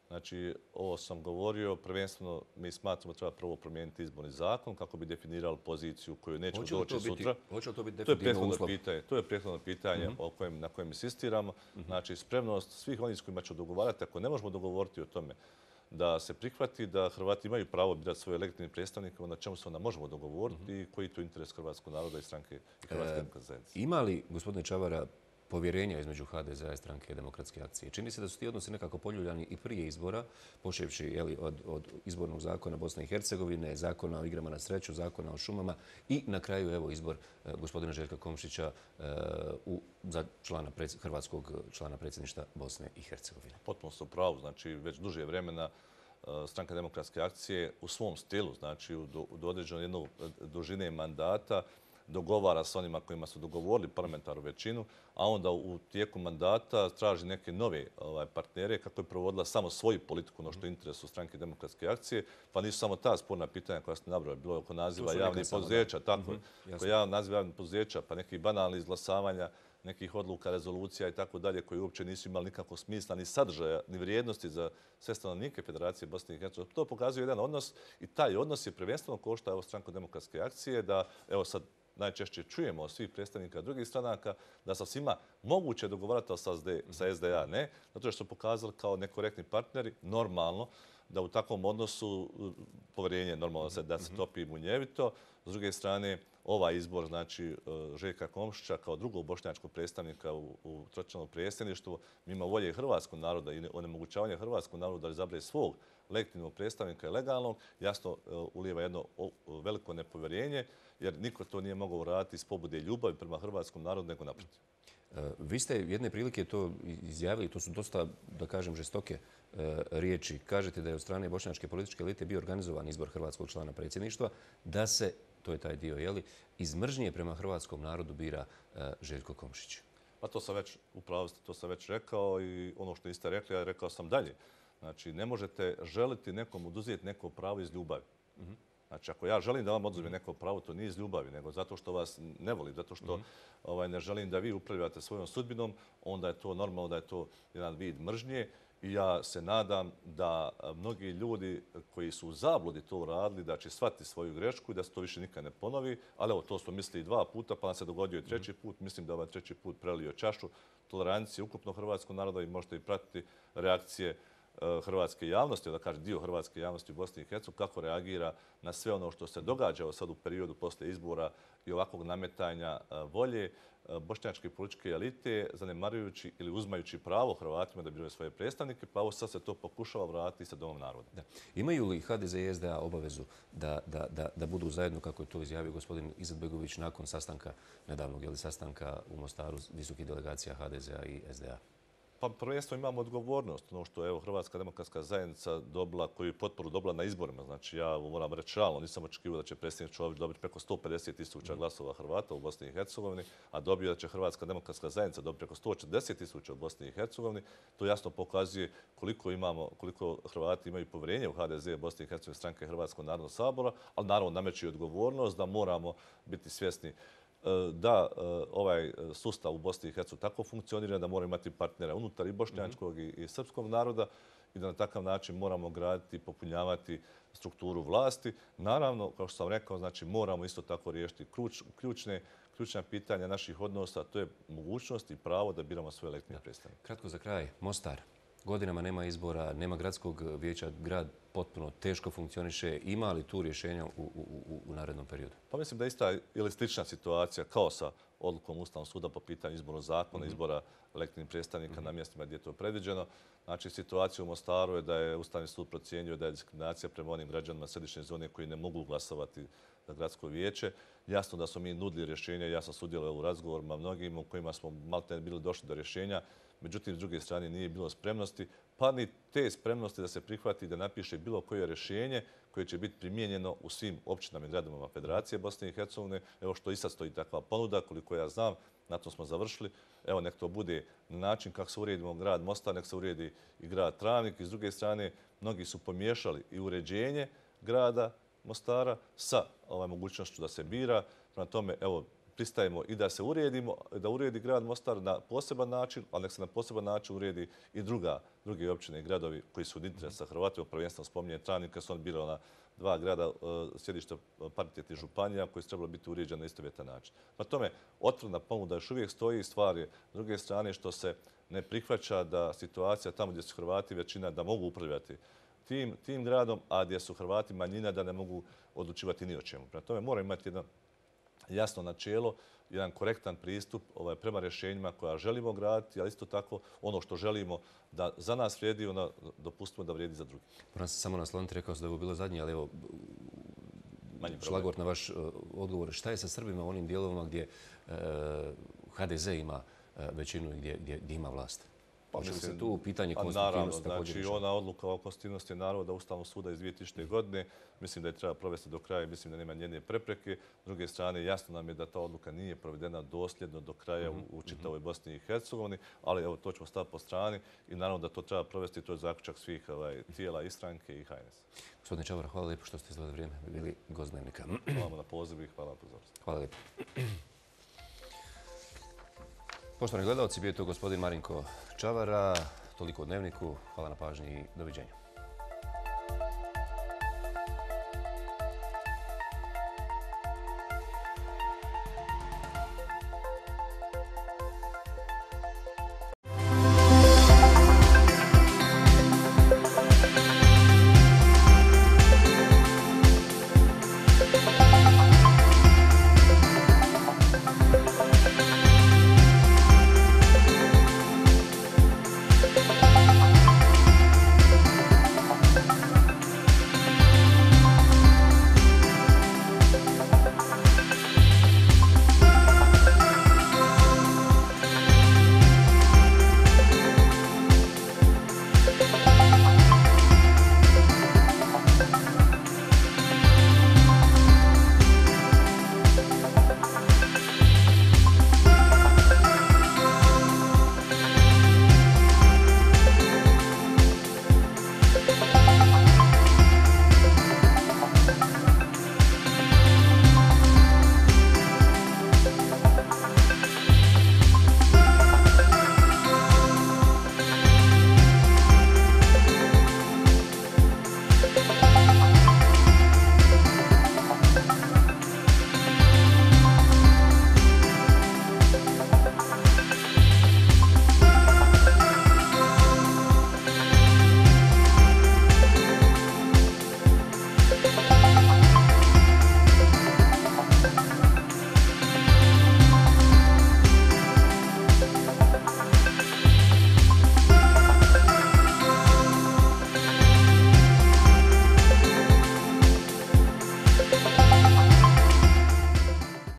Znači, ovo sam govorio, prvenstveno mi smatramo da treba prvo promijeniti izborni zakon kako bi definirali poziciju koju nećemo doći sutra. Hoće li to biti definitivno uslov? To je prethodno pitanje na kojem insistiramo. Znači, spremnost svih onih s kojima ćemo dogovarati, ako ne možemo dogovoriti o tome da se prihvati da Hrvati imaju pravo birati svoje legitimne predstavnike, na čemu se onda možemo dogovoriti i koji je to interes hrvatskog naroda i stranke i Hrvatske demokratske zajednice. Ima li, gospodine Čavara, povjerenja između HDZ-a i stranke Demokratske akcije? Čini se da su ti odnosi nekako poljuljani i prije izbora, počevši od izbornog zakona Bosne i Hercegovine, zakona o igrama na sreću, zakona o šumama i na kraju evo izbor gospodina Željka Komšića za hrvatskog člana predsjedništva Bosne i Hercegovine. Potpuno ste u pravu. Znači, već duže vremena stranka Demokratske akcije u svom stilu, znači do određenog jednog dužine mandata, dogovara s onima kojima su dogovorili parlamentarnu većinu, a onda u tijeku mandata traži neke nove partnere kako je provodila samo svoju politiku, ono što je interesu stranke Demokratske akcije, pa nisu samo ta sporna pitanja koja ste nabrali, bilo je oko naziva javnih poduzeća, tako, oko naziva javnih poduzeća, pa nekih banalnih izglasavanja, nekih odluka, rezolucija i tako dalje, koji uopće nisu imali nikakvog smisla, ni sadržaja, ni vrijednosti za sve stanovnike Federacije Bosne i Hercegovine. To pokazuje jedan odnos i taj odnos je prvenstveno košta stranku Demokratske akcije da, evo sad, najčešće čujemo od svih predstavnika drugih stranaka da sa svima moguće dogovarati sa SDA, ne, zato što su pokazali kao nekorektni partneri, normalno, da u takvom odnosu povjerenje normalno da se topi munjevito. S druge strane, ovaj izbor, znači Željka Komšića kao drugog bošnjačkog predstavnika u tročlanom predsjedništvu, mimo volje hrvatskog naroda i onemogućavanja hrvatskog naroda da izaberu svog legitimnog predstavnika i legalnog, jasno ulijeva jedno veliko nepovjerenje, jer niko to nije mogao uraditi iz pobude ljubavi prema hrvatskom narodu, nego naprotiv. Vi ste jedne prilike to izjavili, to su dosta, da kažem, žestoke riječi. Kažete da je od strane bošnjačke političke elite bio organizovan izbor hrvatskog člana predsjedništva, da se, to je taj dio, jeli, iz mržnje prema hrvatskom narodu bira Željko Komšić. Pa to sam već, upravo ste, to sam već rekao i ono što niste rekli, ja rekao sam dalje. Znači, ne možete želiti nekom oduzeti neko pravo iz ljubavi. Znači, ako ja želim da vam oduzmem neko pravo, to nije iz ljubavi, nego zato što vas ne volim, zato što ne želim da vi upravljate svojom sudbinom, onda je to normalno da je to jedan vid mržnje. I ja se nadam da mnogi ljudi koji su u zabludi to uradili, da će shvatiti svoju grešku i da se to više nikad ne ponovi. Ali evo, to smo mislili 2 puta, pa nam se dogodio i 3. put. Mislim da ovaj 3. put prelio čašu tolerancije ukupno hrvatskog naroda i možete i pratiti reakcije hrvatske javnosti, da kaže dio hrvatske javnosti u Bosni i Hercegovini, kako reagira na sve ono što se događa sad u periodu poslije izbora i ovakvog nametanja volje bošnjačke političke elite, zanemarujući ili uzmajući pravo Hrvatima da biraju svoje predstavnike, pa ovo sad se to pokušava vratiti sa Domom naroda. Imaju li HDZ i SDA obavezu da budu zajedno, kako je to izjavio gospodin Izetbegović, nakon sastanka, nedavnog sastanka u Mostaru visokih delegacija HDZ-a i SDA? Pa prvenstveno imamo odgovornost. Ono što je Hrvatska demokratska zajednica dobila, koju potporu dobila na izborima. Znači ja moram reći realno, nisam očekivao da će predsjednik Čović dobiti preko 150.000 glasova Hrvata u Bosni i Hercegovini, a dobio da će Hrvatska demokratska zajednica dobiti preko 140.000 u Bosni i Hercegovini. To jasno pokazuje koliko Hrvati imaju povjerenje u HDZ, Bosni i Hercegovini, stranke Hrvatskog narodnog sabora, ali naravno nameće odgovornost da moramo biti svjesni da ovaj sustav u Bosni i Hercegovini tako funkcionira, da moramo imati partnera unutar i bošnjačkog i srpskog naroda i da na takav način moramo graditi i popunjavati strukturu vlasti. Naravno, kao što sam rekao, znači moramo isto tako riješiti ključna pitanja naših odnosa, to je mogućnost i pravo da biramo svoje legitimne predstavnike. Kratko za kraj, Mostar. Godinama nema izbora, nema gradskog vijeća, grad potpuno teško funkcioniše. Ima li tu rješenja u narednom periodu? Pa mislim da je ista ili slična situacija kao sa odlukom Ustavnog suda po pitanju izbornog zakona, izbora legitimnih predstavnika na mjestima gdje je to predviđeno. Znači, situacija u Mostaru je da je Ustavni sud procijenio da je diskriminacija prema onim građanima središnje zone koji ne mogu glasovati za gradsko vijeće. Jasno da smo mi nudili rješenja, ja sam sudjelovao u razgovorima mnogim u kojima smo maltene bili došli do rješenja. Međutim, s druge strane nije bilo spremnosti, pa ni te spremnosti da se prihvati da napiše bilo koje rješenje koje će biti primijenjeno u svim općinama i gradovima Federacije Bosne i Hercegovine. Evo što i sad stoji takva ponuda, koliko ja znam, na to smo završili. Evo nek to bude na način kako se uredimo grad Mostar, nek se uredi i grad Travnik. I s druge strane, mnogi su pomiješali i uređenje grada Mostara sa mogućnošću da se bira. Prema tome, evo, pristajemo i da se uredimo, da uredi grad Mostar na poseban način, ali nek se na poseban način uredi i druge općine i gradovi koji su od interesa Hrvatima. Prvenstveno spominje Travnik, kad su oni birali na 2 grada sjedišta paritetnih županija koji su trebali biti uređeni na istovjetan način. Na tome, otvorena ponuda još uvijek stoji, stvar je s druge strane što se ne prihvaća da situacija tamo gdje su Hrvati većina da mogu upravljati tim gradom, a gdje su Hrvati manjina da ne mogu odlučivati ni o čemu. Prema tome, mora imati jedno jasno načelo, jedan korektan pristup prema rješenjima koja želimo graditi, ali isto tako ono što želimo da za nas vrijedi, onda dopustimo da vrijedi za drugi. Moram se samo nasloniti, rekao sam da je ovo bilo zadnje, ali evo, šlagvort na vaš odgovor. Šta je sa Srbima u onim dijelovima gdje HDZ ima većinu i gdje ima vlast? Hoće li se tu pitanje konstitutivnosti također rješava? Znači, ona odluka o konstitutivnosti naroda Ustavnog suda iz 2000. godine, mislim da je treba provesti do kraja i mislim da nema njene prepreke. S druge strane, jasno nam je da ta odluka nije provedena dosljedno do kraja u čitavoj Bosni i Hercegovini, ali evo, to ćemo staviti po strani i naravno da to treba provesti, to je zaključak svih tijela i stranke i HNS. Gospodine Čavar, hvala lijepo što ste izgledali vrijeme, bili gost Dnevnika. Hvala na pozivu i hvala na pozornosti. Hvala lijepo. Poštovani gledalci, bio je to gospodin Marinko Čavara. Toliko o Dnevniku. Hvala na pažnji i doviđenja.